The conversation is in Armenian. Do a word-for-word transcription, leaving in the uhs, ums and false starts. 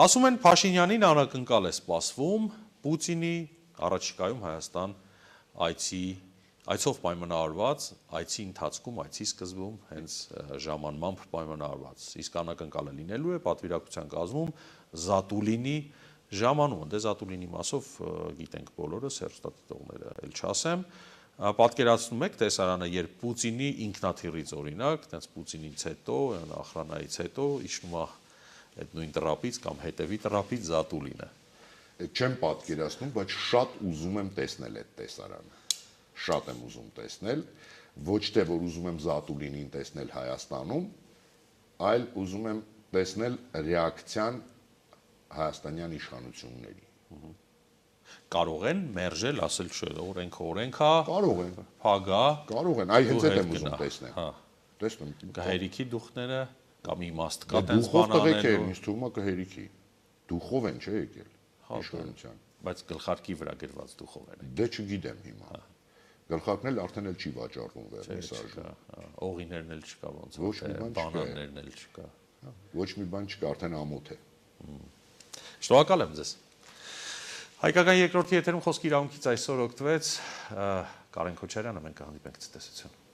Ասում են Փաշինյանին անակնկալ է սպասվում Պուտինի առաջիկայում Հայաստան այցի այցով պայմանավորված, այցի ընթացքում, այցի սկզբում հենց ժամանմամբ պայմանավորված, իսկ անակնկալը լինելու է պատվիրակության կազմում Զատուլինի ժամանումը, դե Զատուլինի մասով գիտենք բոլորս, հեռուստադիտողները էլ չասեմ, պատկերացնում եք տեսարանը, երբ Պուտինի ինքնաթիռից օրինակ, տենց Պուտինից հետո, ախրանայից հետո իջնում է այդ նույն տրապից կամ հետևի տրապից Զատուլինը։ Չեմ պատկերացնում, բայց շատ ուզում եմ տեսնել այդ տեսարանը։ Շատ եմ ուզում տեսնել, ոչ թե որ ուզում եմ Զատուլինին տեսնել Հայաստանում, այլ ուզում եմ տեսնել ռեակցիան հայաստանյան իշխանությունների։ Կարող են մերժել, ասել չէ, օրենքը օրենք է, կարող են, փագա, կարող են, այ հենց այդ եմ ուզում տեսնել։ Տեսնում եմ։ Կհերիքի դուխները կամ իմաստ կա տենց բանաներ, ինձ թվում է կհերիքի։ Դուխով են չէ եկել իշխանության։ Բայց գլխարկի վրա գրված դուխով են։ Դե չգիտեմ հիմա։ Գլխարկն էլ արդեն էլ չի վաճառվում վերնիսաժում։ Օղիներն էլ չկա ոնց որ բանաններն էլ չկա։ Ոչ մի բան չկա, արդեն ամոթ է։ Շնորհակալ եմ ձեզ։ Հայկական երկրորդի եթերում խոսքի իրավունքից այսօր օգտվեց Կարեն Քոչարյանը, մենք կհանդիպենք ցտեսություն։